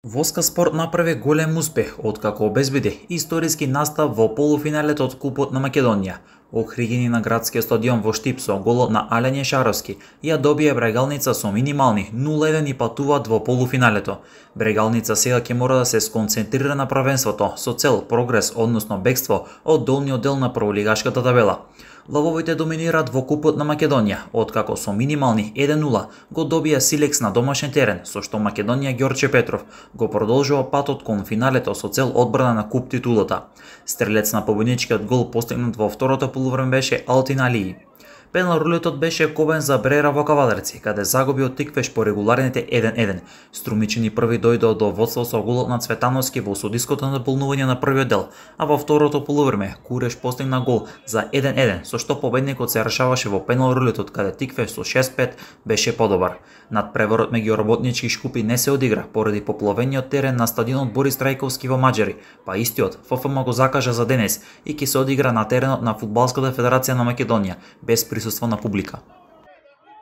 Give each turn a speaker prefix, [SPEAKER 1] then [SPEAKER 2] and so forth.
[SPEAKER 1] Воска Спорт направи голем успех откако обезбеди историски настап во полуфиналето од Купот на Македонија. Охригини на градскиот стадион во Штип со голот на Ален Ешаровски ја добие Брегалница со минимални 0-1 и патуваат во полуфиналето. Брегалница сега ќе мора да се сконцентрира на првенството со цел прогрес, односно бегство од долниот дел на прволигашката табела. Лавовите доминираат во Купот на Македонија, откако со минимални 1-0 го добија Силекс на домашен терен, со што Македонија Ѓорче Петров го продолжува патот кон финалето со цел одбрана на куп титулата. Стрелец на победничкиот гол постигнат во второто полувреме беше Алтин Алии. Пенал-рулетот беше кобен за Брера во Кавадарци, каде загуби од Тиквеш по регуларните 1-1. Струмичени први дојдоа до водство со голот на Цветановски во судиското надополнување на првиот дел, а во второто полувреме Куреш постигна гол за 1-1, со што победникот се решаваше во пенал-рулетот, каде Тиквеш со 6-5 беше подобар. Надпреворот меѓу работнички шкупи не се одигра поради попловениот терен на стадионот Борис Трајковски во Маđари, па истиот ФФМ го закажа за денес и ќе се одигра на теренот на Фудбалската федерација на Македонија без присуство на публика.